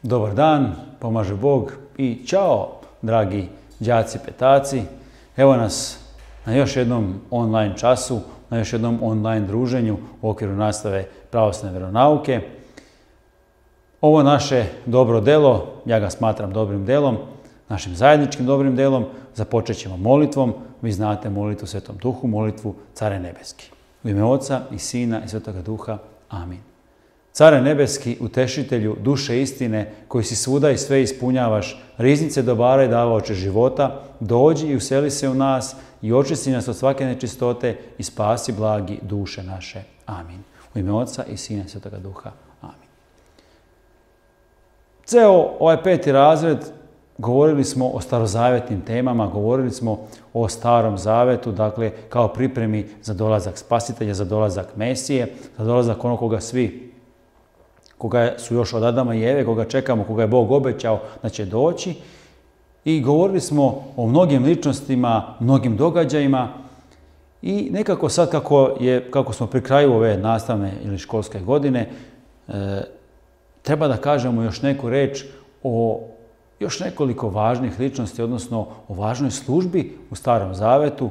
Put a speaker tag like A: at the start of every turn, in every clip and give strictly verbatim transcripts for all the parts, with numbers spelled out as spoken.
A: Dobar dan, pomaže Bog i čao, dragi đaci petaci. Evo nas na još jednom online času, na još jednom online druženju u okviru nastave pravoslavne vjeronauke. Ovo naše dobro delo, ja ga smatram dobrim delom, našim zajedničkim dobrim delom, započet ćemo molitvom. Vi znate molitvu Svetom Duhu, molitvu Care Nebeski. U ime Oca i Sina i Svetoga Duha. Amin. Care nebeski, utešitelju, duše istine, koji si svuda i sve ispunjavaš, riznice dobara i davaoče života, dođi i useli se u nas i očisti nas od svake nečistote i spasi blagi duše naše. Amin. U ime Oca i Sina i Svetoga Duha. Amin. Ceo ovaj peti razred govorili smo o starozavetnim temama, govorili smo o Starom zavetu, dakle kao pripremi za dolazak Spasitelja, za dolazak Mesije, za dolazak onog koga svi, koga su još od Adama i Eve, koga čekamo, koga je Bog obećao da će doći. I govorili smo o mnogim ličnostima, mnogim događajima i nekako sad kako, je, kako smo pri kraju ove nastavne ili školske godine, e, treba da kažemo još neku reč o još nekoliko važnih ličnosti, odnosno o važnoj službi u Starom zavetu,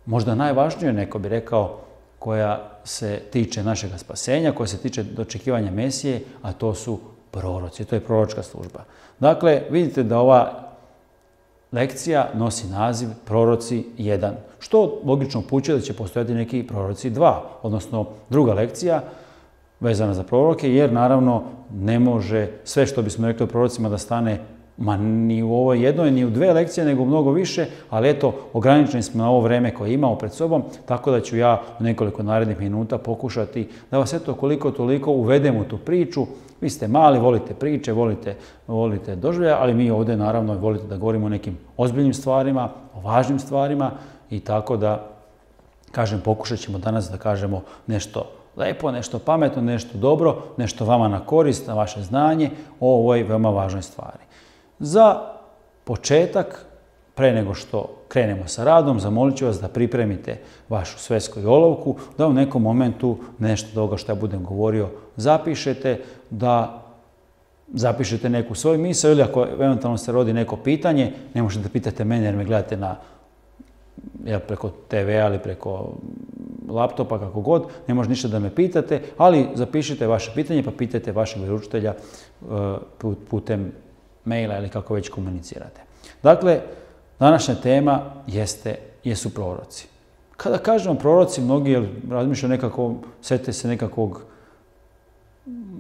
A: možda najvažnije, neko bi rekao, koja se tiče našega spasenja, koja se tiče dočekivanja Mesije, a to su proroci, to je proročka služba. Dakle, vidite da ova lekcija nosi naziv Proroci jedan, što logično upućuje da će postojati neki Proroci dva, odnosno druga lekcija vezana za proroke, jer naravno ne može sve što bismo rekli o prorocima da stane ma ni u ovoj jednoj, ni u dve lekcije, nego mnogo više, ali eto, ograničeni smo na ovo vreme koje imamo pred sobom, tako da ću ja u nekoliko narednih minuta pokušati da vas eto koliko toliko uvedem u tu priču. Vi ste mali, volite priče, volite, volite doživljaje, ali mi ovdje naravno volite da govorimo o nekim ozbiljnim stvarima, o važnim stvarima i tako da, kažem, pokušat ćemo danas da kažemo nešto lepo, nešto pametno, nešto dobro, nešto vama na korist, na vaše znanje o ovoj veoma važnoj stvari. Za početak, pre nego što krenemo sa radom, zamolit ću vas da pripremite vašu svesku i olovku, da u nekom momentu nešto toga što ja budem govorio zapišete, da zapišete neku svoju misao ili ako eventualno se rodi neko pitanje, ne možete da pitate mene jer me gledate na, ja, preko te ve a ili preko laptopa, kako god, ne može ništa da me pitate, ali zapišite vaše pitanje pa pitajte vašeg vjeroučitelja uh, putem maila ili kako već komunicirate. Dakle, današnja tema jeste, jesu proroci. Kada kažemo proroci, mnogi razmišljaju nekako, sete se nekakvog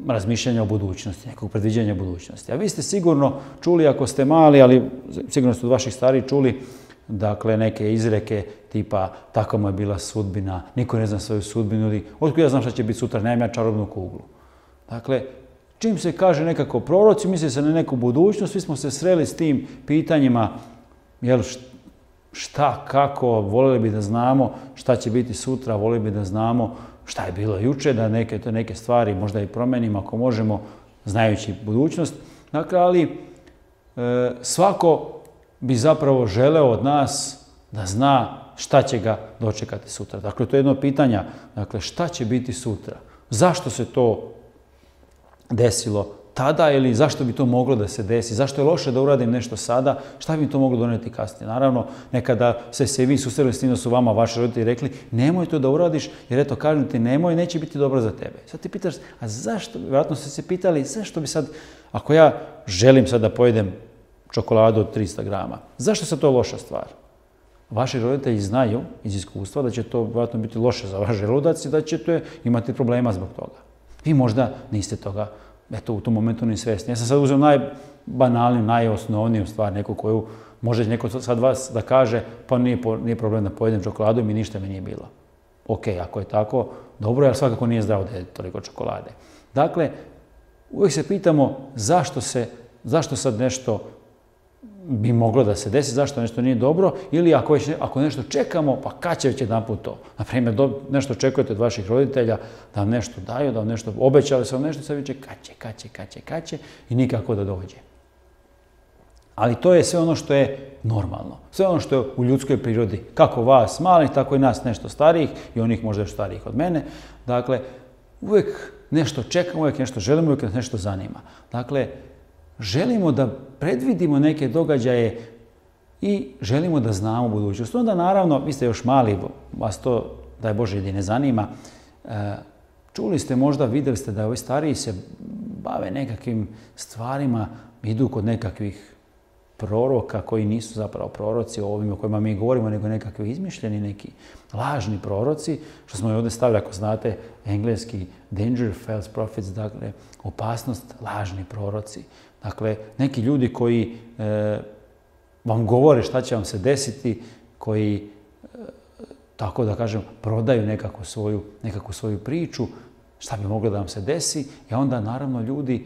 A: razmišljanja o budućnosti, nekog predviđanja budućnosti. A vi ste sigurno čuli, ako ste mali, ali sigurno ste od vaših stariji čuli, dakle, neke izreke tipa takva mu je bila sudbina, niko ne zna svoju sudbinu ili otkud ja znam šta će biti sutra, nemam ja čarobnu kuglu. Dakle, čim se kaže nekako proroci, misli se na neku budućnost, svi smo se sreli s tim pitanjima, jel, šta, kako, voljeli bi da znamo šta će biti sutra, voljeli bi da znamo šta je bilo juče, da neke, to neke stvari možda i promenimo ako možemo, znajući budućnost. Dakle, ali e, svako bi zapravo želeo od nas da zna šta će ga dočekati sutra. Dakle, to je jedno pitanje, dakle, šta će biti sutra? Zašto se to desilo tada ili zašto bi to moglo da se desi? Zašto je loše da uradim nešto sada? Šta bi mi to moglo doneti kasnije? Naravno, nekada se se vi susreli s tim da su vama vaši roditelji rekli nemoj to da uradiš jer eto, kažem ti nemoj, neće biti dobro za tebe. Sad ti pitaš, a zašto? Vjerojatno ste se pitali zašto bi sad, ako ja želim sad da pojedem čokoladu od trista grama, zašto se to loša stvar? Vaši roditelji znaju iz iskustva da će to vjerojatno biti loše za vaš želudac i da ćete imati problema zbog toga. Vi možda niste toga, eto, u tom momentu ni svjesni. Ja sam sad uzeo najbanalniju, najosnovniju stvar, neku koju može neko sad vas da kaže, pa nije, nije problem da pojedem čokoladu i mi ništa mi nije bilo. Ok, ako je tako, dobro, ali svakako nije zdravo da je toliko čokolade. Dakle, uvijek se pitamo zašto se, zašto sad nešto bi moglo da se desi, zašto nešto nije dobro, ili ako, već, ako nešto čekamo, pa kad će već jedan put to? Naprimjer, do, nešto očekujete od vaših roditelja da vam nešto daju, da vam nešto obećali su vam nešto, sad viče kad će, kad će, kad će, kad će i nikako da dođe. Ali to je sve ono što je normalno, sve ono što je u ljudskoj prirodi, kako vas malih, tako i nas nešto starijih i onih možda još starijih od mene. Dakle, uvijek nešto čekamo, uvijek nešto želimo, uvijek nas nešto zanima. Dakle, želimo da predvidimo neke događaje i želimo da znamo budućnost. Onda naravno, vi ste još mali, vas to, daj Bože, i ne zanima. Čuli ste možda, vidjeli ste da ovi stariji se bave nekakvim stvarima, idu kod nekakvih proroka koji nisu zapravo proroci o ovima o kojima mi govorimo, nego nekakvi izmišljeni, neki lažni proroci, što smo i ovdje stavili, ako znate, engleski danger false prophets, dakle, opasnost, lažni proroci. Dakle, neki ljudi koji e, vam govore šta će vam se desiti, koji, e, tako da kažem, prodaju nekakvu svoju, nekakvu svoju priču, šta bi moglo da vam se desi, i onda naravno ljudi,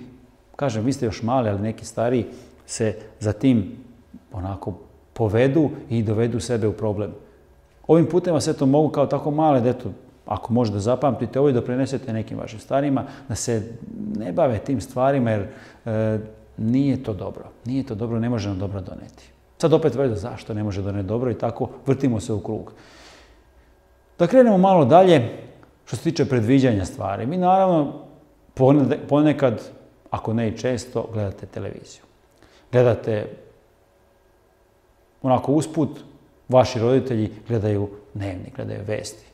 A: kažem, vi ste još mali, ali neki stariji se za tim onako povedu i dovedu sebe u problem. Ovim putem vas eto mogu kao tako male, da eto, ako možda zapamtite ovo i da prenesete nekim vašim starima, da se ne bave tim stvarima, jer e, nije to dobro. Nije to dobro, ne može nam dobro doneti. Sad opet vrede zašto ne može doneti dobro i tako vrtimo se u krug. Da krenemo malo dalje, što se tiče predviđanja stvari. Mi naravno ponekad, ako ne i često, gledate televiziju. Gledate onako usput, vaši roditelji gledaju dnevnik, gledaju vesti.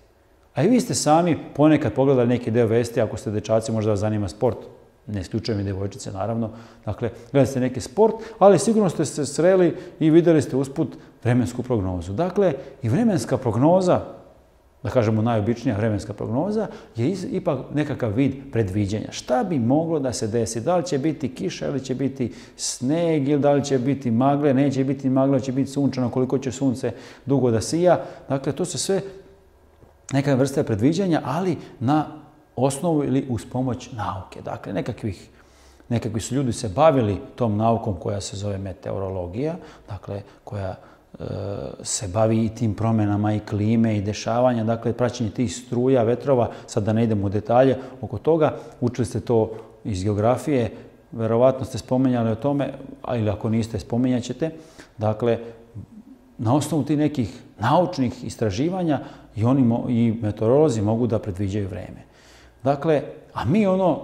A: A i vi ste sami ponekad pogledali neki deo vesti, ako ste dečaci, možda vas zanima sport, ne isključujem i devojčice naravno, dakle gledate neki sport, ali sigurno ste se sreli i vidjeli ste usput vremensku prognozu. Dakle, i vremenska prognoza, da kažemo najobičnija vremenska prognoza, je ipak nekakav vid predviđanja. Šta bi moglo da se desi? Da li će biti kiša ili će biti sneg, ili da li će biti magle, neće biti magle, će biti sunčano, koliko će sunce dugo da sija. Dakle, to su sve neka vrsta predviđanja, ali na osnovu ili uz pomoć nauke. Dakle, nekakvih, nekakvi su ljudi se bavili tom naukom koja se zove meteorologija, dakle, koja se bavi i tim promjenama i klime i dešavanja, dakle praćenje tih struja, vetrova, sad da ne idemo u detalje oko toga, učili ste to iz geografije, verovatno ste spomenjali o tome, ili ako niste, spomenjat ćete. Dakle, na osnovu tih nekih naučnih istraživanja i oni i meteorolozi mogu da predviđaju vreme. Dakle, a mi ono,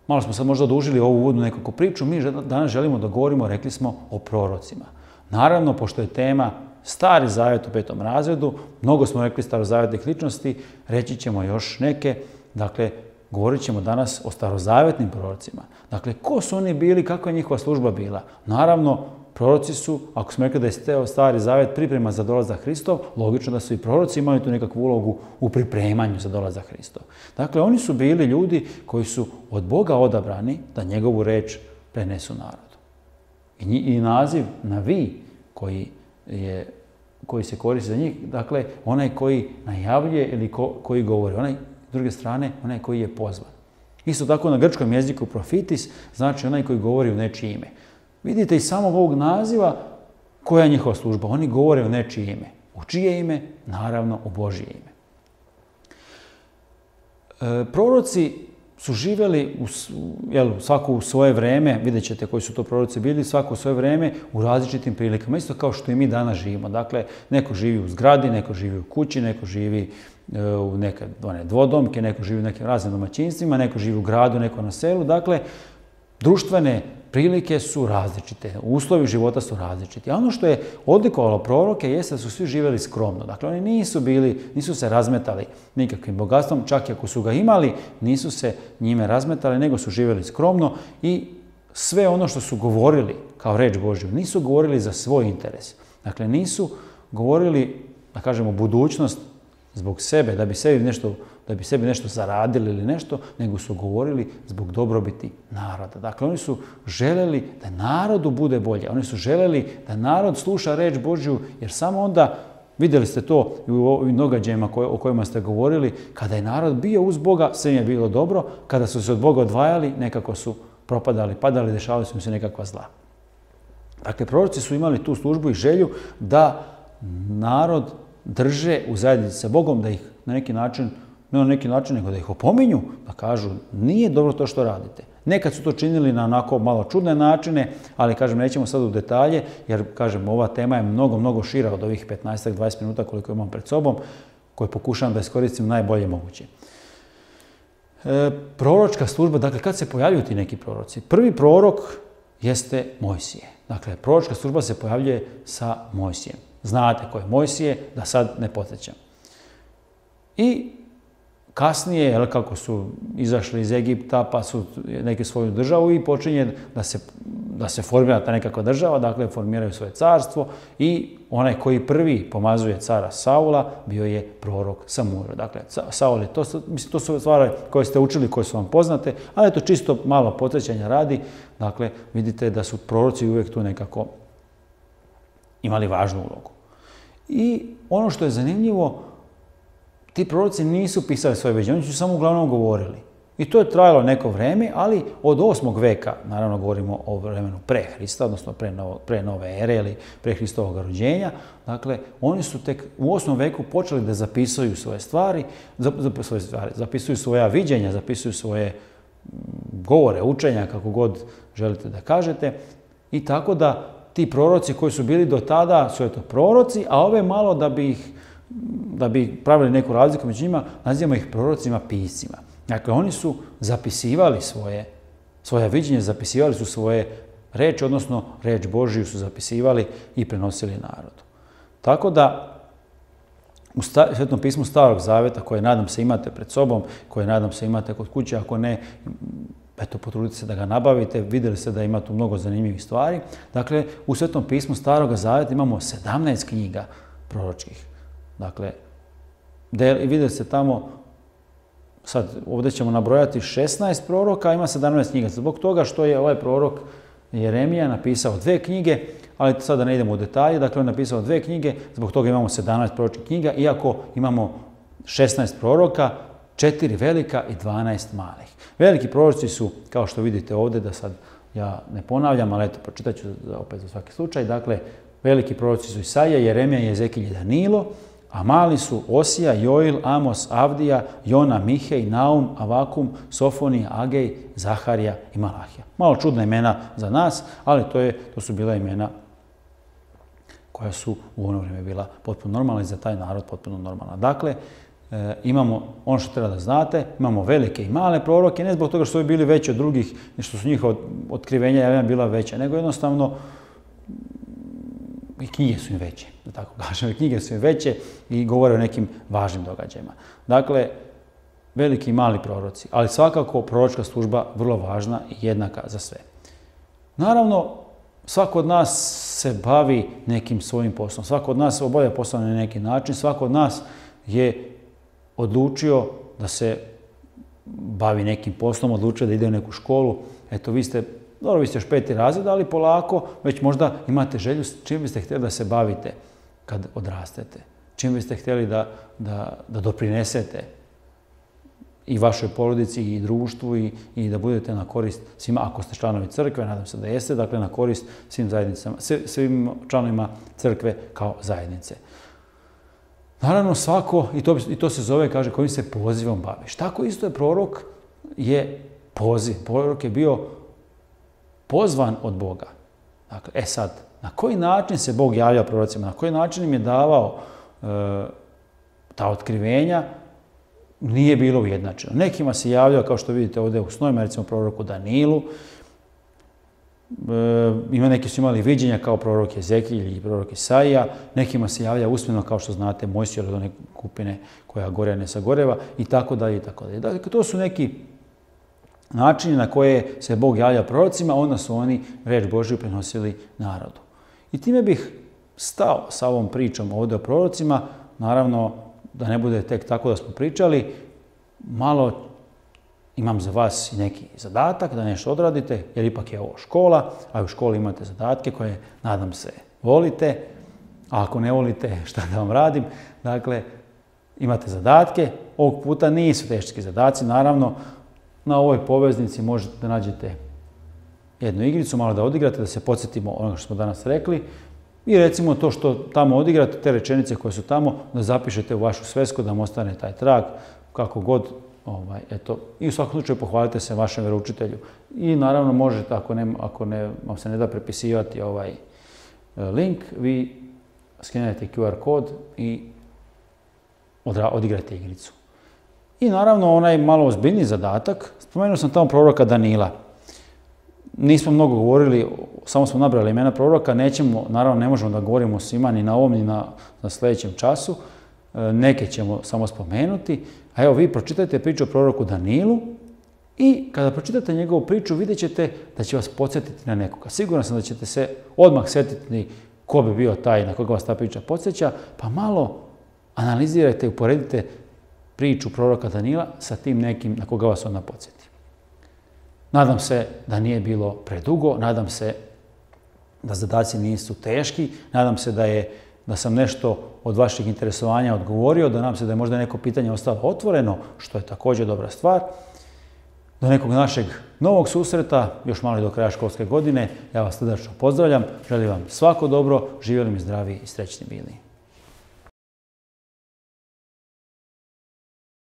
A: malo smo sad možda odužili ovu uvodnu nekakvu priču, mi danas želimo da govorimo, rekli smo, o prorocima. Naravno, pošto je tema Stari Zavet u petom razredu, mnogo smo rekli starozavetnih ličnosti, reći ćemo još neke, dakle, govorit ćemo danas o starozavetnim prorocima. Dakle, ko su oni bili, kakva je njihova služba bila? Naravno, proroci su, ako smo rekli da je Stari Zavet priprema za dolazak Hristov, logično da su i proroci imali tu nekakvu ulogu u pripremanju za dolazak Hristov. Dakle, oni su bili ljudi koji su od Boga odabrani da njegovu reč prenesu narodu. I, i naziv na vi koji, je, koji se koristi za njih, dakle, onaj koji najavljuje ili ko, koji govori, onaj, s druge strane, onaj koji je pozvan. Isto tako na grčkom jeziku profitis znači onaj koji govori u nečije ime. Vidite iz samog ovog naziva koja je njihova služba. Oni govore u nečije ime. U čije ime? Naravno, u Božje ime. E, proroci su živjeli u, jel, svako u svoje vreme, vidjet ćete koji su to proroci bili, svako u svoje vreme u različitim prilikama, isto kao što i mi danas živimo. Dakle, neko živi u zgradi, neko živi u kući, neko živi e, u neke one, dvodomke, neko živi u nekim raznim domaćinstvima, neko živi u gradu, neko na selu. Dakle, društvene prilike su različite, uslovi života su različiti. A ono što je odlikovalo proroke jeste da su svi živjeli skromno. Dakle, oni nisu bili, nisu se razmetali nikakvim bogatstvom, čak i ako su ga imali, nisu se njime razmetali, nego su živjeli skromno i sve ono što su govorili kao reč Božju, nisu govorili za svoj interes. Dakle, nisu govorili, da kažemo, budućnost zbog sebe, da bi sebi nešto da bi sebi nešto zaradili ili nešto, nego su govorili zbog dobrobiti naroda. Dakle, oni su želeli da narodu bude bolje. Oni su želeli da narod sluša reč Božju, jer samo onda, vidjeli ste to i u ovim događajima o kojima ste govorili, kada je narod bio uz Boga, sve im je bilo dobro, kada su se od Boga odvajali, nekako su propadali, padali, dešavali su im se nekakva zla. Dakle, proroci su imali tu službu i želju da narod drže u zajednici sa Bogom, da ih na neki način, ne na neki način, nego da ih opominju, da kažu nije dobro to što radite. Nekad su to činili na onako malo čudne načine, ali kažem, nećemo sad u detalje, jer kažem, ova tema je mnogo, mnogo šira od ovih petnaest do dvadeset minuta koliko imam pred sobom, koje pokušavam da iskoristim najbolje moguće. E, proročka služba, dakle, kad se pojavljuju ti neki proroci? Prvi prorok jeste Mojsije. Dakle, proročka služba se pojavljuje sa Mojsijem. Znate ko je Mojsije, da sad ne podsjećam. I kasnije, jel, kako su izašli iz Egipta, pa su neki svoju državu i počinje da se, da se formira ta nekakva država, dakle formiraju svoje carstvo i onaj koji prvi pomazuje cara Saula bio je prorok Samuil. Dakle, Saul je, to, mislim, to su stvari koje ste učili, koje su vam poznate, ali to čisto malo podsjećanja radi. Dakle, vidite da su proroci uvijek tu nekako imali važnu ulogu. I ono što je zanimljivo, ti proroci nisu pisali svoje viđenje, oni su samo uglavnom govorili. I to je trajalo neko vrijeme, ali od osmog veka, naravno govorimo o vremenu pre Hrista, odnosno pre, novo, pre nove ere ili pre Hristovog rođenja, dakle, oni su tek u osmom veku počeli da zapisuju svoje stvari, svoje stvari, zapisuju svoja viđenja, zapisuju svoje govore, učenja, kako god želite da kažete. I tako da ti proroci koji su bili do tada su eto proroci, a ove malo da bi ih da bi pravili neku razliku među njima, nazivamo ih prorocima piscima. Dakle, oni su zapisivali svoje, svoje viđenje, zapisivali su svoje reči, odnosno reč Božiju su zapisivali i prenosili narodu. Tako da, u Svetom pismu Starog Zaveta, koje nadam se imate pred sobom, koje nadam se imate kod kuće, ako ne, eto, potrudite se da ga nabavite, vidjeli ste da ima tu mnogo zanimljivih stvari. Dakle, u Svetom pismu Starog Zaveta imamo sedamnaest knjiga proročkih. Dakle, vidjeli ste tamo, sad ovdje ćemo nabrojati šesnaest proroka, a ima sedamnaest knjiga. Zbog toga što je ovaj prorok Jeremija napisao dve knjige, ali sada ne idemo u detalje, dakle on je napisao dve knjige, zbog toga imamo sedamnaest proročkih knjiga, iako imamo šesnaest proroka, četiri velika i dvanaest malih. Veliki proroci su, kao što vidite ovdje, da sad ja ne ponavljam, ali eto, pročitat ću opet za svaki slučaj. Dakle, veliki proroci su Isaija, Jeremija, Jezekilj i Danilo, a mali su Osija, Joil, Amos, Avdija, Jona, Mihej, Naum, Avakum, Sofonija, Agej, Zaharija i Malahija. Malo čudna imena za nas, ali to, je, to su bila imena koja su u ono vrijeme bila potpuno normalna i za taj narod potpuno normalna. Dakle, e, imamo ono što treba da znate, imamo velike i male proroke, ne zbog toga što su bili veći od drugih, što su njihova otkrivenja javljena bila veća, nego jednostavno i knjige su im veće, da tako kažem, knjige su im veće i govore o nekim važnim događajima. Dakle, veliki i mali proroci, ali svakako proročka služba vrlo važna i jednaka za sve. Naravno, svako od nas se bavi nekim svojim poslom, svako od nas obavlja posao na neki način, svako od nas je odlučio da se bavi nekim poslom, odlučio da ide u neku školu. Eto, vi ste Dobro, vi ste još peti razred, ali polako već možda imate želju čim biste htjeli da se bavite kad odrastete. Čim biste htjeli da, da, da doprinesete i vašoj porodici i društvu i, i da budete na korist svima, ako ste članovi crkve, nadam se da jeste, dakle na korist svim, zajednicama, svim članovima crkve kao zajednice. Naravno svako, i to, i to se zove, kaže, kojim se pozivom baviš. Tako isto je prorok je poziv. Prorok je bio pozvan od Boga. Dakle, e sad, na koji način se Bog javljao prorocima, na koji način im je davao e, ta otkrivenja, nije bilo ujednačeno. Nekima se javljao, kao što vidite ovdje u snovima, recimo proroku Danilu, e, ima neki su imali viđenja kao prorok Jezekilj i prorok Isaija, nekima se javlja usmeno, kao što znate, Mojsije od one kupine koja gore ne sagoreva, i tako dalje, i tako dalje. Dakle, to su neki načini na koje se Bog javlja prorocima, onda su oni reč Božju prenosili narodu. I time bih stao sa ovom pričom ovdje o prorocima, naravno da ne bude tek tako da smo pričali, malo imam za vas i neki zadatak da nešto odradite, jer ipak je ovo škola, a u školi imate zadatke koje, nadam se, volite, a ako ne volite, šta da vam radim. Dakle, imate zadatke, ovog puta nisu teški zadaci, naravno, na ovoj poveznici možete da nađete jednu igricu, malo da odigrate, da se podsjetimo onoga što smo danas rekli i recimo to što tamo odigrate, te rečenice koje su tamo, da zapišete u vašu svesku, da vam ostane taj trag, kako god, ovaj, eto, i u svakom slučaju pohvalite se vašem vjeroučitelju. I naravno možete, ako, ne, ako ne, vam se ne da prepisivati ovaj link, vi skenirate Q R kod i odigrate igricu. I naravno onaj malo ozbiljniji zadatak, spomenuo sam tamo proroka Danila. nismo mnogo govorili, samo smo nabrali imena proroka, nećemo, naravno ne možemo da govorimo o svima ni na ovom ni na, na sljedećem času, neke ćemo samo spomenuti, a evo vi pročitajte priču o proroku Danilu i kada pročitate njegovu priču vidjet ćete da će vas podsjetiti na nekoga. Siguran sam da ćete se odmah sjetiti ko bi bio taj na koga vas ta priča podsjeća, pa malo analizirajte i uporedite priču proroka Danila sa tim nekim na koga vas ona podsjeti. Nadam se da nije bilo predugo, nadam se da zadaci nisu teški, nadam se da, je, da sam nešto od vaših interesovanja odgovorio, da nadam se da je možda neko pitanje ostalo otvoreno, što je također dobra stvar. Do nekog našeg novog susreta, još malo do kraja školske godine, ja vas srdačno pozdravljam, želim vam svako dobro, živjeli mi zdravi i srećni bili.